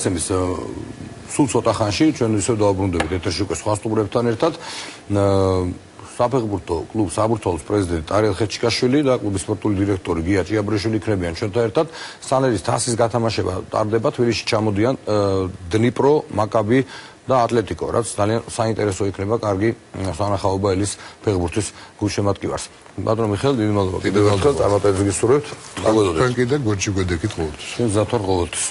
ცემის სულ ცოტა ხანში ჩვენ ისევ დავაბრუნდებით ეთერში უკვე სხვა სტუმრებთან ერთად. საფეხბურთო კლუბ საბურთალოს პრეზიდენტი ტარიელ ხეჩიკაშვილი და კლუბის სპორტული დირექტორი გია ჭიაბრიშვილი იქნებიან ჩვენთან ერთად. სალერის თასის გათამაშება ტარდება, თბილისში ჩამოდიან დნიპრო, მაკაბი და ატლეტიკო, რაც ძალიან საინტერესო იქნება კარგი სანახაობა ელის ფეხბურთის გულშემატკივარს. ბატონო მიხეილ, დიდი მადლობა კიდევ ერთხელ წარმატებებს გისურვებთ. მოგესალმებით. თქვენ კიდე გორჩი გვედექით ყოველთვის. ჩვენ მზად ვარ ყოველთვის.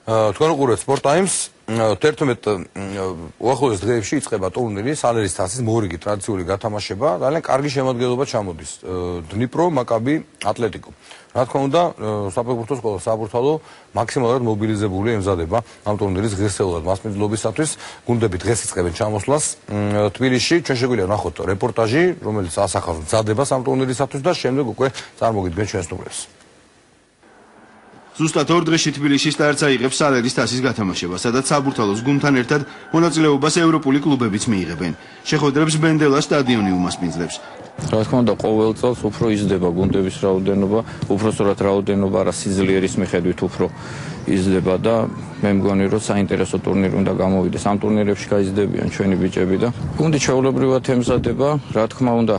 თქვენ უყურებთ Sport Times. 11 უახლოეს დღეებში იწყება ტურნირი სალერის თასის მორიგი ტრადიციული გათამაშება. ძალიან კარგი შემადგენლობა ჩამოდის. დნიპრო, მაკაბი, ატლეტიკო. რა თქმა უნდა, საფეხბურთო სკოლა საბურთალო მაქსიმალურად მობილიზებული ემზადება ამ ტურნირის ღირსეულად მასპინძლობისათვის. გუნდები დღეს იწყებენ ჩამოსვლას თბილისში. ჩვენ შეგვიძლია ვნახოთ რეპორტაჟი, რომელიც ასახავს მზადებას ამ ტურნირისათვის და შემდეგ უკვე წარმოგიდგენ ჩვენს სტუმრებს. ზუსტად 2 დღეში თბილისში სტარტს აიღებს სალერის თასის გათამაშება, სადაც საბურთალოს გუნდთან ერთად მონაწილეობას ევროპული კლუბებიც მიიღებენ. შეხვედრებს ბენდელა სტადიონი უმასპინძლებს. რა თქმა უნდა, ყოველ წელს უფრო იზრდება გუნდების რაოდენობა, უფრო სწორად რაოდენობა არა სიძლიერის მიხედვით უფრო იზრდება და მე მგონი რომ საინტერესო ტურნირი უნდა გამოვიდეს. ამ ტურნირებში გაიზრდებიან ჩვენი ბიჭები და გუნდი ჩვეულებრივად ემზადება, რა თქმა უნდა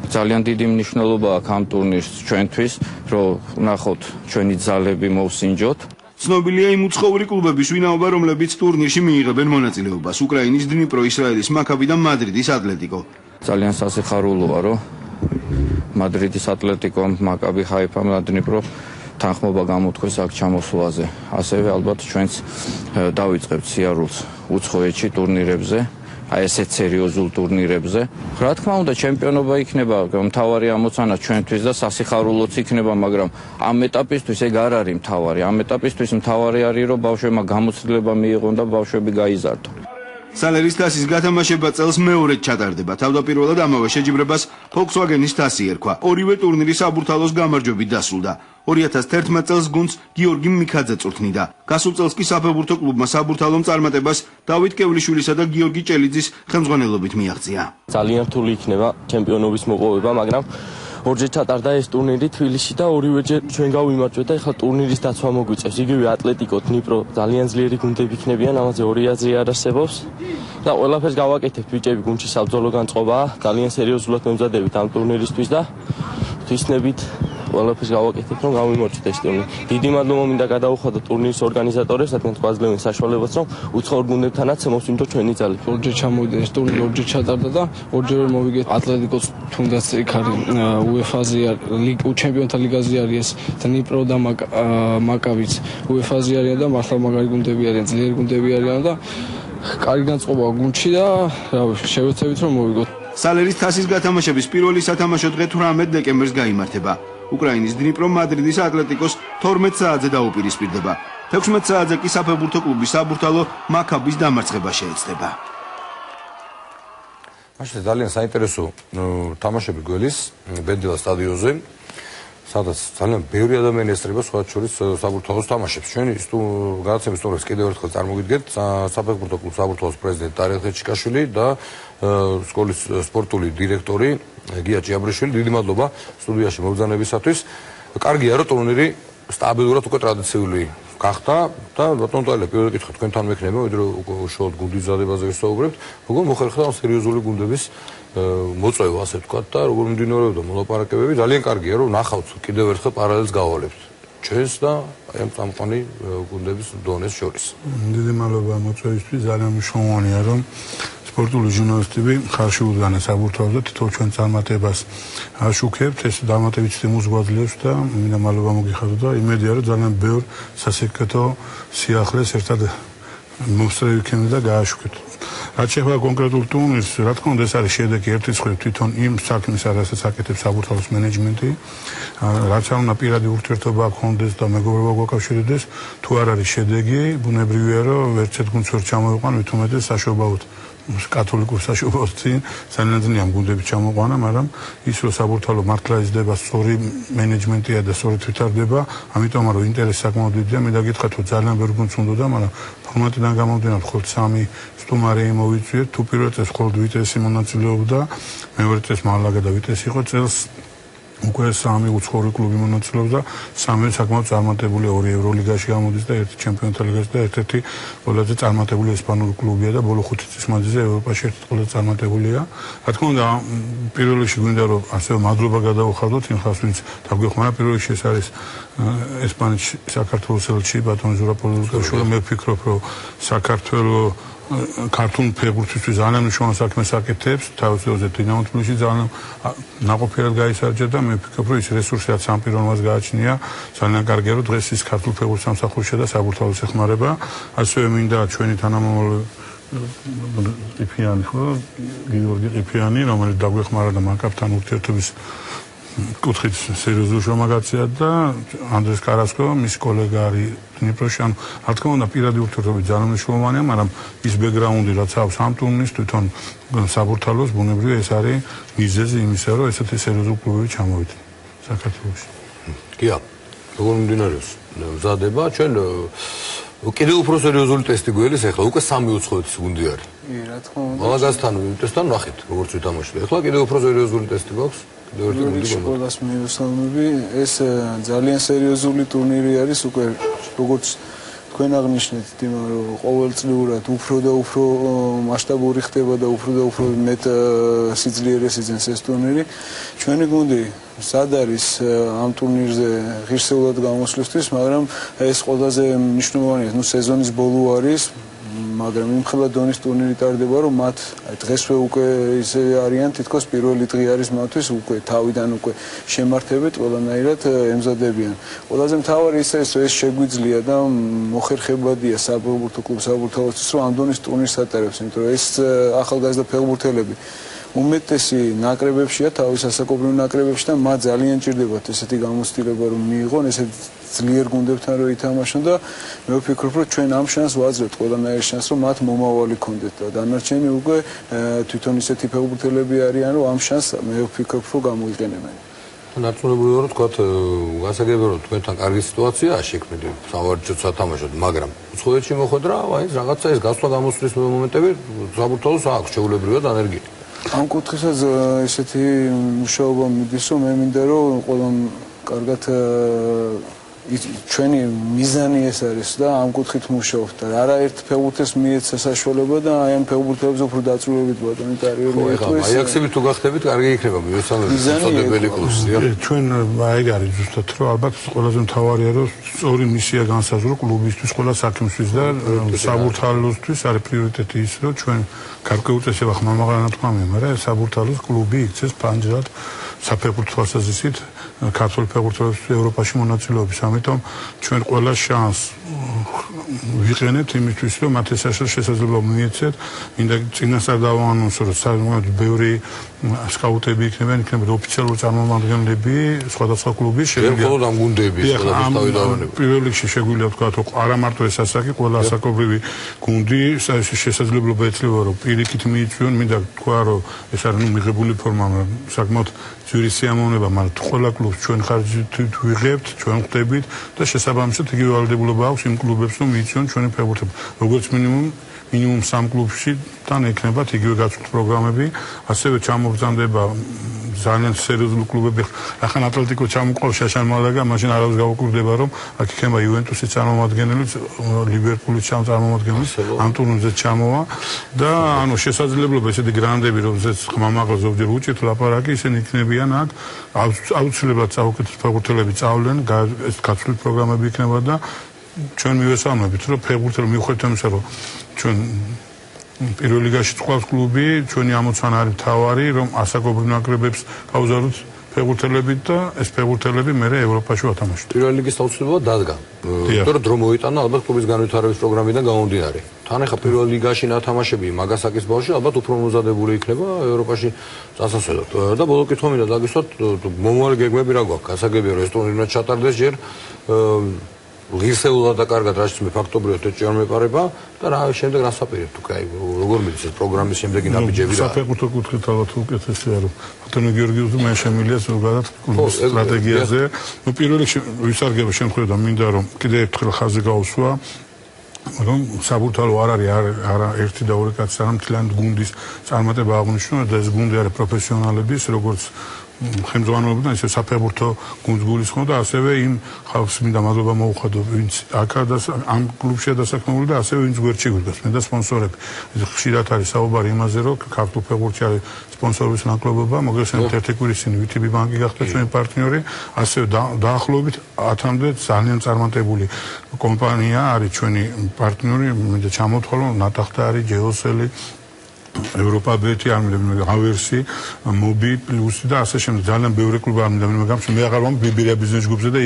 ძალიან დიდი მნიშვნელობა აქვს ამ ტურნირს ჩვენთვის, რომ ვნახოთ ჩვენი ძალები მოვსინჯოთ. ცნობილია იმ უცხოური კლუბების ვინაობა, რომლებიც ტურნირში მიიღებენ მონაწილეობას: უკრაინის დნიპრო, ისრაელის მაკაბი და მადრიდის ატლეტიკო. ძალიან სასიხარულოა, რომ მადრიდის ატლეტიკომ, მაკაბი ხაიფამ და დნიპრო თანხმობა გამოთქვეს აქ ჩამოსვლაზე. ასევე ალბათ ჩვენც დავიწყებთ სიარულს უცხოეთში ტურნირებზე. აი ესეთ სერიოზულ ტურნირებზე. რა თქმა უნდა, ჩემპიონობა იქნება მთავარი ამოცანა ჩვენთვის და სასიხარულოც იქნება, მაგრამ ამ ეტაპისთვის ეგ არ არის მთავარი. ამ ეტაპისთვის მთავარი არის, რომ ბავშვებმა გამოცდილება მიიღონ და ბავშვები გაიზარდონ. სალერის თასის გათამაშება წელს მეორედ ჩატარდება. თავდაპირველად ამავე შეჯიბრებას Volkswagen-ის თასი ერქვა. ორივე ტურნირი საბურთალოს გამარჯვებით დასრულდა. 2011 წელს გუნდს გიორგი მიქაძე წვრთნიდა. გასულ წელს კი საფეხბურთო კლუბმა საბურთალომ წარმატებას დავით კევლიშვილისა და გიორგი ჭელიძის ხელმძღვანელობით მიაღწია. ძალიან რთული იქნება ჩემპიონობის მოპოვება, მაგრამ ორჯერ ჩატარდა ეს ტურნირი თბილისში და ორივეჯერ ჩვენ გავიმარჯვეთ და ეხლა ტურნირის დაცვა მოგვიწევს. იგივე ატლეტიკო, დნიპრო, ძალიან ძლიერი გუნდები იქნებიან, ამაზე ორი აზრი არ არსებობს და ყველაფერს გავაკეთებთ ბიჭები, გუნდში საბრძოლო განწყობაა, ძალიან სერიოზულად მემზადებით ამ ტურნირისთვის და ღვთისმებით ყველაფერს გავაკეთებთ, რომ გავიმარჯვეთ ეს ტურნირი. დიდი მადლობა მინდა გადაუხადოთ ტურნირის ორგანიზატორებს, რადგან გვაძლევენ საშუალებას, რომ უცხოურ გუნდებთანაც მოვსინჯოთ ჩვენი ძალები. ორჯერ ჩამოვიდა ეს ტურნირი, ორჯერ ჩატარდა და ორჯერ მოვიგეთ ატლეტიკოს, თუნდაც იქ არის UEFA-ზე ჩემპიონთა ლიგაზე არის ეს დნიპრო და მაკაბიც. UEFA-ზე არიან და მართლა მაგარი გუნდები არიან, ძლიერი გუნდები არიან და კარგი განწყობაა გუნდში და შევეცდებით რომ მოვიგოთ. სალერის თასის გათამაშების პირველი სათამაშო დღე 18 დეკემბერს გაიმართება. უკრაინის დნიპრო მადრიდის ატლეტიკოს 12 საათზე დაუპირისპირდება. 16 საათზე კი საფეხბურთო კლუბი საბურთალო მაკაბის დამარცხება შეეცდება. მაშინ ძალიან საინტერესო თამაშები გველის ბენდელა სტადიონზე, სადაც ძალიან ბევრი ადამიანი ესწრება სხვა შორის საბურთალოს თამაშებს. ჩვენი გადაცემის სტუმრებს კიდევ ერთხელ წარმოგიდგენთ საფეხბურთო კლუბ საბურთალოს პრეზიდენტი ტარიელ ხეჩიკაშვილი და სკოლის სპორტული დირექტორი გია ჭიაბრიშვილი. დიდი მადლობა სტუდიაში მობრძანებისათვის. კარგია, რომ ტურნირი სტაბილურად უკვე ტრადიციული გახდა და ბატონო ტალია, პირველი კითხვა თქვენთან მექნება, ვიდრე უშუალოდ გუნდის მზადებაზე ვისაუბრებთ. როგორ მოხერხდა ამ სერიოზული გუნდების მოწვევა, ასე ვთქვათ, და როგორ მიმდინარეობდა მოლაპარაკებები. ძალიან კარგია, რომ ნახავთ კიდევ ერთხელ პარალელს გავავალებთ ჩვენს და ამ წამყვანი გუნდების დონეს შორის. დიდი მადლობა მოწვევისთვის. ძალიან მნიშვნელოვანია, რომ სპორტული ჟურნალისტები ხარში უდგანენ საბურთალოს და თითოეულ ჩვენ წარმატებას აშუქებთ. ეს დამატებით სტიმულს გვაძლევს და მინდა მადლობა მოგიხადოთ და იმედია, რომ ძალიან ბევრ სასეკრეტო სიახლეს ერთად მოსწრები იქნება და გააშუქებთ. რაც შეეხება კონკრეტულ ტურნირს, რა თქმა უნდა, ეს არის შედეგი ერთი მხრივ თვითონ იმ საქმისა, რასაც აკეთებს საბურთალოს მენეჯმენტი, რაც არ უნდა პირადი ურთიერთობა გქონდეს და მეგობრობა გვაკავშირებდეს, თუ არ არის შედეგი, ბუნებრივია, რომ ერთ-ერთ გუნდს ვერ ჩამოვიყვან, მით უმეტეს საშობაოდ კათოლიკურ საშუალებებში ძალიან ძლიერ გუნდები ჩამოყვანა, მაგრამ ის რომ საბურთალო მართლა იზრდება, სწორი მენეჯმენტია და სწორად ვითარდება, ამიტომ რომ ინტერესი საკმაოდ დიდია, მე დაგითხრათ რომ ძალიან ბევრი გუნდს უნდოდა, მაგრამ ფორმატიდან გამომდინარე მხოლოდ 3 სტუმარი მოვიწვიეთ, თუ პირველ წელს მხოლოდ ვიტესი მონაწილეობდა, მეორე წელს მალაგა და ვიტესი იყო, წელს უკვე 3 უცხოური კლუბი მონაწილეობდა, 3 საკმაოდ წარმატებული, 2 ევროლიგაში გამოდის და 1 ჩემპიონთა ლიგაში და ერთ-ერთი ყველაზე წარმატებული ესპანური კლუბია და ბოლო 5 წლის მანძილზე ევროპაში ერთ-ერთი ყველაზე წარმატებულია. რა თქმა უნდა, პირველ რიგში გვინდა რომ ასევე მადლობა გადავუხადოთ იმ ხალხს, ვინც დაგვეხმარა. პირველ რიგში ეს არის ესპანეთში საქართველოს ელჩი ბატონი ზურაბ-პოლიტიკაშვილი. მე ვფიქრობ, რომ საქართველოს ქართულ ფეხბურთისთვის ძალიან მნიშვნელოვან საქმეს აკეთებს, თავის დროზე დინამო თბილისში ძალიან ნაყოფიერად გაისარჯა და მე ვფიქრობ, რომ ის რესურსი რაც ამ პიროვნებას გააჩნია, ძალიან კარგია, რომ დღეს ის ქართულ ფეხბურთს სამსახურშია და საბურთალოს ეხმარება. ასევე მინდა ჩვენი თანამომავალი ყიფიანი ხო, გიორგი ყიფიანი, რომელიც დაგვეხმარა და მაკაბთან ურთიერთობის კუთხით სერიოზულ შრომაგაცია და ანდრეს კარასკო, მის კოლეგა არის დნიპროში. ანუ რა თქმა უნდა, პირადი ურთიერთობები ძალიან მნიშვნელოვანია, მაგრამ ის ბექგრაუნდი რაც აქვს ამ ტურნირის თვითონ საბურთალოს ბუნებრივია ეს არის მიზეზი იმისა, რომ ესეთი სერიოზული კლუბები ჩამოვიდნენ საქართველოში. კია, როგორ მიმდინარეობს მზადება? ჩვენ კიდევ უფრო სერიოზული ტესტი გველის, ახლა უკვე 3 უცხოეთის გუნდი არის. რა თქმა უნდა. მალაგასთან ვიტესთან ნახეთ, როგორც ვითამაშდა. ახლა კიდევ უფრო სერიოზული ტესტი გვაქვს. ყველას მივესალმები. ეს ძალიან სერიოზული ტურნირი არის, უკვე როგორც თქვენ აღნიშნეთ, თიმა რომ ყოველწლიურად უფრო და უფრო მასშტაბური ხდება და უფრო მეტ სიძლიერეს იძენს ეს ტურნირი. ჩვენი გუნდი სად არის ამ ტურნირზე ღირსეულად გამოსვლისთვის, მაგრამ ეს ყველაზე მნიშვნელოვანია, სეზონის ბოლო არის. მაგრამ იმხელა დონის ტურნირი ტარდება, რომ მათ დღესვე უკვე ისე არიან, თითქოს პირველი დღე არის მათთვის, უკვე თავიდან უკვე შემართებით ყველანაირად ემზადებიან. ყველაზე მთავარი ის არის, რომ ეს შეგვიძლია და მოხერხებადია საფეხბურთო კლუბ საბურთალოსთვის, რომ ამ დონის ტურნირს ატარებს, იმიტომ რომ ეს ახალგაზრდა ფეხბურთელები უმეტესი ნაკრებებშია, თავის ასაკობრივ ნაკრებებში და მათ ძალიან ჭირდებათ ესეთი გამოცდილება, რომ მიიღონ ესეთი ძლიერ გუნდებთან რომ ითამაშონ და მე ვფიქრობ, რომ ჩვენ ამ შანსს ვაძლევთ, ყველანაირ შანსს, რომ მათ მომავალი ქონდეთ და დანარჩენი უკვე თვითონ ისეთი ფეხბურთელები არიან, რომ ამ შანსს მე ვფიქრობ, რომ გამოიყენებენ. ნარწმუნებული ვარ, თქვათ, გასაგებია, რომ თქვენთან კარგი სიტუაციაა შექმნილი, სავარჯიშოდ სათამაშოდ, მაგრამ უცხოეთში მოხვედრა, აი რაღაცა ეს გასვლა გამოსვლის მომენტები საბურთალოს აქვს შეუულებრივად ანერგიული. ამ კუთხესაც ესეთი მუშაობა მიდის, რომ მე მინდა რომ ყველა კარგად ჩვენი მიზანი ეს არის და ამ კუთხით მუშაობთ და არაერთ ფეხბურთელს მიეცა საშუალება და აი ამ ფეხბურთელებს უფრო დაწვრილებით ბატონი ტარიელი ეტყვის. აიაქსები თუ გახდებით, კარგი იქნება მივესალმებით წოდებელი კლუბია. ჩვენ აი არის ზუსტად რომ ალბათ ყველაზე მთავარია რომ სწორი მისია განსაზღვრო კლუბისთვის, ყველა საქმისთვის და საბურთალოსთვის არის პრიორიტეტი ის რომ ჩვენ კარგი უწესება ხმამაღლა თქვა მე, მაგრამ საბურთალოს კლუბი იქცეს ფანჯრად საფეხბურთო თვალსაზრისით ქართული ფეხბურთელების ევროპაში მონაწილეობის. ამიტომ ჩვენ ყველა შანსს ვიყენებთ იმისთვის, რომ მათ ეს შესაძლებლობა მიეცეთ. მინდა წინასწარ დავაანონსო, რომ საკმაოდ ბევრი სკაუტები იქნებიან, იქნებიან ოფიციალური წარმომადგენლები სხვადასხვა კლუბის. შეგვიძლია მხოლოდ ამ გუნდების ყველაფერს თავი დავანებო. პირველ რიგში შეგვიძლია თქვა, რომ არა მარტო ეს ასაკი, ყველა ასაკობრივი გუნდი შესაძლებლობა ეძლევა, რომ პირიქით მიიწვიონ. მინდა თქვა, რომ ეს არის მიღებული ფორმა, საკმაოდ ძვირი სიამოვნება, მაგრამ ყველა კლუბს ჩვენ ხარჯით ვიღებთ, ჩვენ ხვდებით და შესაბამისად იგივე ვალდებულება აქვს იმ კლუბებს, რომ მიიწვიონ ჩვენი ფეხბურთელები. როგორც მინიმუმ 3 კლუბში თან ექნებათ იგივე გაწვრთნილი პროგრამები, ასევე ჩამობრძანდება ძალიან სერიოზული კლუბები. ახლა ატლეტიკო ჩამოყავს შაშან მალაგა, მაშინ არავის გავუკვირდება, რომ აქ იქნება იუვენტუსის წარმომადგენელი, ლივერპულის წარმომადგენელი, ამ ტურნირზე ჩამოვა და ანუ შესაძლებლობა ესეთი გრანდები, რომელზეც ხმამაღლა ზოგჯერ უჭირთ ლაპარაკი, ისინი იქნებიან აქ, აუცილებლად საუკეთესო ფეხბურთელები წავლენ, ეს გაწვრთნილი პროგრამები იქნება და ჩვენ მივესალმებით, რომ ფეხბურთელი მიუხედავად იმისა, რომ ჩვენ პირველ ლიგაში წყავს კლუბი, ჩვენი ამოცანა არის თავარი, რომ ასაკობრივ ნაკრებებს გავზარდოთ ფეხბურთელებით და ეს ფეხბურთელები მერე ევროპაში ვათამაშოთ. პირველ ლიგის აუცილებლობა დადგა. იმიტომ რომ დრო მოიტანა ალბათ კლუბის განვითარების პროგრამიდან გამომდინარე. თან ახლა პირველ ლიგაში ნათამაშები მაგასაკის ბავშვი ალბათ უფრო მომზადებული იქნება ევროპაში წასასვლელად. და ბოლო კითხვა მინდა დაგისვათ, მომავალი გეგმები რა გვაქვს? გასაგებია, რომ ეს ტურნირი ჩატარდეს ჯერ ღირსეულად და კარგად რაც მე ფაქტობრივად ეჭვი არ მეპარება და რა შემდეგ რას აპირებთ უკვე აი როგორ მიდის ეს პროგრამის შემდეგი ნაბიჯები რა საფეხბურთო კუთხით ალბათ უკეთესია რომ ბატონო გიორგიუსი მე შემილია ზოგადად სტრატეგიაზე ნუ პირველ რიგში ვისარგებლო შემთხვევაში მინდა რომ კიდე ერთხელ ხაზი გაუსვა რომ საბურთალო არ არის არა ერთი და ორი კაცი არამედ მთლიანი გუნდის წარმატება აღნიშნული და ეს გუნდი არის პროფესიონალების როგორც ხელმძღვანელობიდან ისე საფეხბურთო გუნდს გულისხმობდა და ასევე იმ ხალხს მინდა მადლობა მოუხადო ვინც აქა და ამ კლუბშია დასაქმებული და ასევე ვინც გვერდში გვიდგას მე და სპონსორები ხშირად არის საუბარი იმაზე რომ ქართულ ფეხბურთში არის სპონსორების ნაკლებობა მოგესალმებით ერთი კვირის წინ VTB ბანკი გახდა ჩვენი პარტნიორი ასევე დაახლოებით 10-მდე ძალიან წარმატებული კომპანია არის ჩვენი პარტნიორი მინდა ჩამოვთვალო ნატახტა არის ჯეოსელი Europa beti armida Aversi, Mobi plus და ასე შემდეგ ძალიან ბევრი კლუბი არმიდა მე გამს მე აღარ ვამ ბიბირია ბიზნეს ჯგუფზე და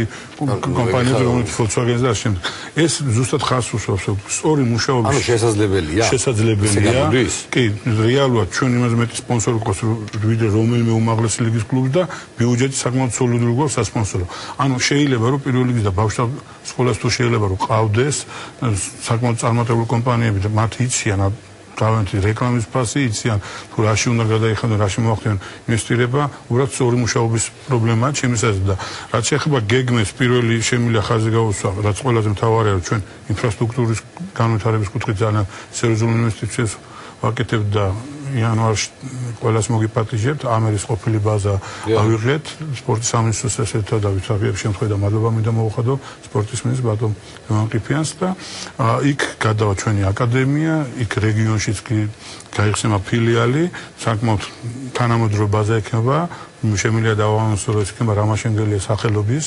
კომპანიაზე რომელიც Volkswagen-ზე და ასე შემდეგ ეს ზუსტად ხარს უსვამს სწორი მუშაობის ანუ შესაძლებელია კი რეალურად ჩვენ იმაზე მეტი სპონსორი გვყავს ვიდრე რომელიმე უმაღლესი ლიგის კლუბს და ბიუჯეტი საკმაოდ სოლიდური გვაქვს სასპონსორო ანუ შეიძლება რომ პირველ ლიგის და ბავშვთა სკოლას თუ შეიძლება რომ ყავდეს საკმაოდ წარმატებული კომპანიები და მათ იციან თავიანთი რეკლამის ფასი იციან თუ რაში უნდა გადაიხადონ რაში მოახდინონ ინვესტირება უბრალოდ სწორი მუშაობის პრობლემაა ჩემს აზრით და რაც შეეხება გეგმებს პირველი შემიძლია ხაზი გაუსვა რაც ყველაზე მთავარია რომ ჩვენ ინფრასტრუქტურის განვითარების კუთხით ძალიან სერიოზულ ინვესტიციებს ვაკეთებთ და იანვარში ყველას მოგიპატიჟებთ ამერის ყოფილი ბაზა ავიღეთ სპორტის სამინისტროს ესეთად და ვიცავიებ შემთხვევაში და მადლობა მინდა მოუხადო სპორტის მინისტრს ბატონ ყიფიანს და იქ გადავა ჩვენი აკადემია იქ რეგიონშიც კი გაიხსნება ფილიალი საკმაოდ თანამედროვე ბაზა ექნება შემიძლია დავაანონსო რომ იქნება რამაშენგელია სახელობის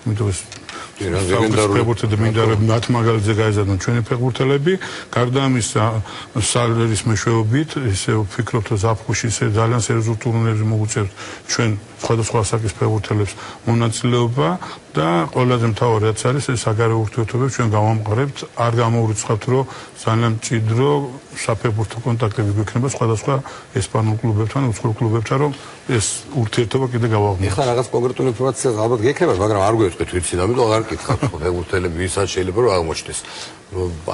იმიტომ ეს ფეხბურთელი მინდარები მათ მაგალითზე გაიზარდონ ჩვენი ფეხბურთელები გარდა ამისა სალერის მეშვეობით ისე ვფიქრობთ რომ ზაფხულში ისე ძალიან სერიოზულ ტურნირებზე მოუწევთ ჩვენ სხვადასხვა ასაკის ფეხბურთელებს მონაწილეობა და ყველაზე მთავარი რაც არის ეს საგარეო ურთიერთობები ჩვენ გავამყარებთ არ გამოვრიცხავთ რომ ძალიან მჭიდრო საფეხბურთო კონტაქტები გვექნება სხვადასხვა ესპანურ კლუბებთან უცხოურ კლუბებთან რომ ეს ურთიერთობა კიდე გავაღწევთ ეხლა რაღაც კონკრეტული ინფორმაცია ალბათ გექნება მაგრამ არ გვეტყვით ვიცი და ამიტომ არ გკითხავთ ფეხბურთელები ვისაც შეიძლება რომ აღმოჩნდეს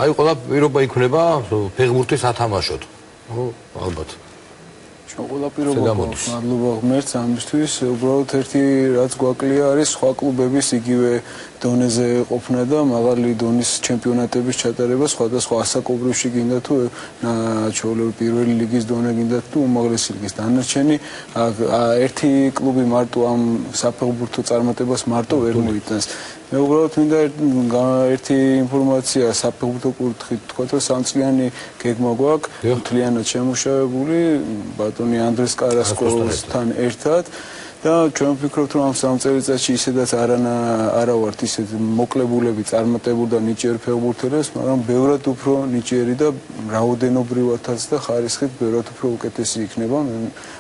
აი ყველა პირობა იქნება ფეხბურთის ათამაშოთ ალბათ ყველა პირობა მადლობა ღმერთს ამისთვის უბრალოდ ერთი რაც გვაკლია არის სხვა კლუბების იგივე დონეზე ყოფნა და მაღალი დონის ჩემპიონატების ჩატარება სხვადასხვა ასაკობრივში გინდა თუ ჩვეულებრივ პირველი ლიგის დონე გინდა თუ უმაღლესი ლიგის დანარჩენი ერთი კლუბი მარტო ამ საფეხბურთო წარმატებას მარტო ვერ მოიტანს მე უბრალოდ მინდა ერთი ინფორმაცია საფეხბურთო კუთხით თქვა რომ სამწლიანი გეგმა გვაქვს მთლიანად შემუშავებული ბატონი ანდრეს კარასკოვთან ერთად და ჩვენ ვფიქრობთ რომ ამ 3 წელიწადში ისედაც არა ვართ ისეთ მოკლებულები წარმატებული და ნიჭიერი ფეხბურთელებს მაგრამ ბევრად უფრო ნიჭიერი და რაოდენობრივადაც და ხარისხით ბევრად უფრო უკეთესი იქნება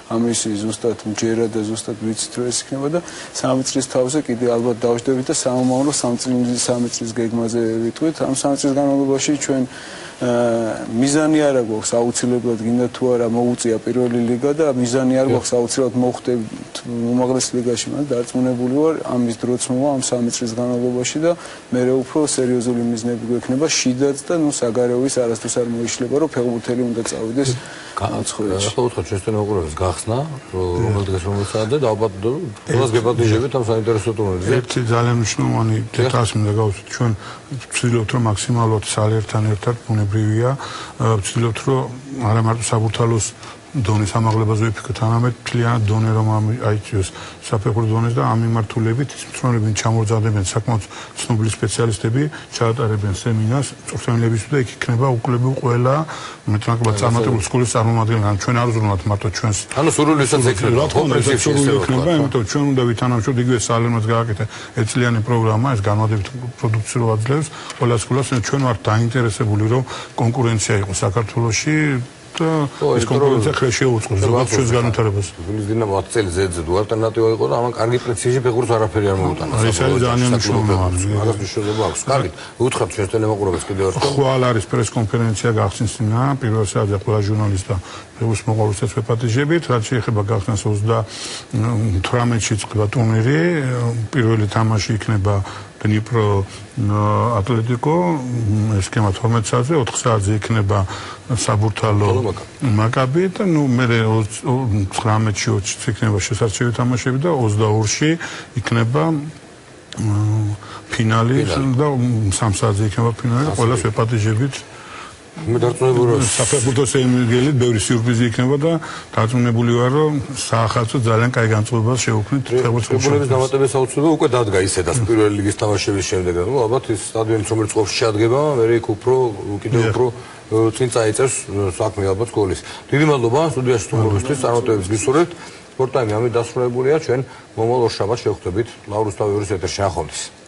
ამის ზუსტად მჯერა და ზუსტად ვიცით რომ ეს იქნება და 3 წლის თავზე კიდე ალბათ დავждდებით და სამომავლო 3 წლის გეგმაზე ვიტყვით ამ 3 წლის განმავლობაში ჩვენ მიზანი არ აქვს აუცილებლად გინდა თუ არა მოუწია პირველი ლიგა და მიზანი არ აქვს აუცილებლად მოხდეთ უმაღლეს ლიგაში მაგრამ დარწმუნებული ვარ ამის დროც მოვა ამ 3 წლის განმავლობაში და მე უფრო სერიოზული მიზნები გვექნება შიდაც და ნუ საგარეოვის არასდროს არ მოიშლება რომ ფეხბურთელი უნდა წავიდეს განაცხოვეში ახლა უთხარ ჩვენს ტელემოყურებელს გახსნა რომელ დღეს რომელ საათზე და ალბათ ყველას გეპატიჟებით ამ საინტერესო ტურნირზე ერთი ძალიან მნიშვნელოვანი დეტალი მინდა გავუსვით ჩვენ ვცდილობთ რომ მაქსიმალურად სალერთან ერთად ბუნებრივია ვცდილობთ რომ არა მარტო საბურთალოს დონის ამაღლებაზე ვიფიქროთ, არამედ მთლიანად დონე რომ აიწვიოს საფეხბურთო დონეს და ამ მიმართულებით მწვრთნელები ჩამორძადებენ საკმაოდ ცნობილი სპეციალისტები ჩაატარებენ სემინარს მწვრთნელებისთვის და იქ იქნება უკლებო ყველა მეტნაკლებად წარმატებული სკოლის წარმომადგენლები ჩვენ არ ვზრუნავთ მარტო ჩვენს ანუ სურვილისაც ექნება იმიტომ ჩვენ უნდა ვითანამშრომლოთ იგივე სალემაც გააკეთა ეწლიანი პროგრამა ეს განმავლობით პროდუქციურ აძლევს ყველა სკოლას ჩვენ ვართ დაინტერესებული რომ კონკურენცია იყოს საქართველოში ეს კონკურენცია ხელ შეუწყოს ზოგადად ჩვენს განვითარებას. გულის დინამო 10 წელი ზედზე თუ ალტერნატივა იყო და ამან კარგი პრეციზი ფეხბურთს არაფერი არ მოუტანა. ეს არის ძალიან მნიშვნელოვანი. მაგას მნიშვნელობა აქვს. კარგი, უთხრათ ჩვენს ტელემოყურებელს კიდევ ერთხელ. ხვალ არის პრეს-კონფერენცია გახსნილა, პირველ საათზე ყველა ჟურნალისტი და ფეხბურთის მოყოლისას ვეპატიჟებით, რაც შეეხება გახსნას 38-ში წყება ტურნირი, პირველი თამაში იქნება დნიპრო ატლეტიკო სქემა 12 საათზე 4 საათზე იქნება საბურთალო მაკაბი და ნუ მე 19-ში 20-ში იქნება შესარჩევი თამაშები და 22-ში იქნება ფინალი და 3 საათზე იქნება ფინალი და ყველას ვეპატიჟებით მე დარწმუნებული ვარ საფეხბურთო სერიალით ბევრი სიურპრიზი იქნება და დარწმუნებული ვარ რომ საახალწლო ძალიან კაი განწყობას შევუქმნით ფეხბურთის დამატების აუცილებლობა უკვე დადგა ისედაც პირველი ლიგის თამაშების შემდეგ და ნუ ალბათ ის სტადიონიც რომელიც ყოფს შეადგება მე იქ უფრო კიდევ უფრო წინ წაიწევს საქმე ალბათ გოლის დიდი მადლობა სტუდიაში თუმრობისთვის წარმატებებს გისურვებთ სპორტ ტაიმი ამით დასრულებულია ჩვენ მომავალ ორ შაბათს შევხვდებით ლავრუსთავის ეთერში ახონდის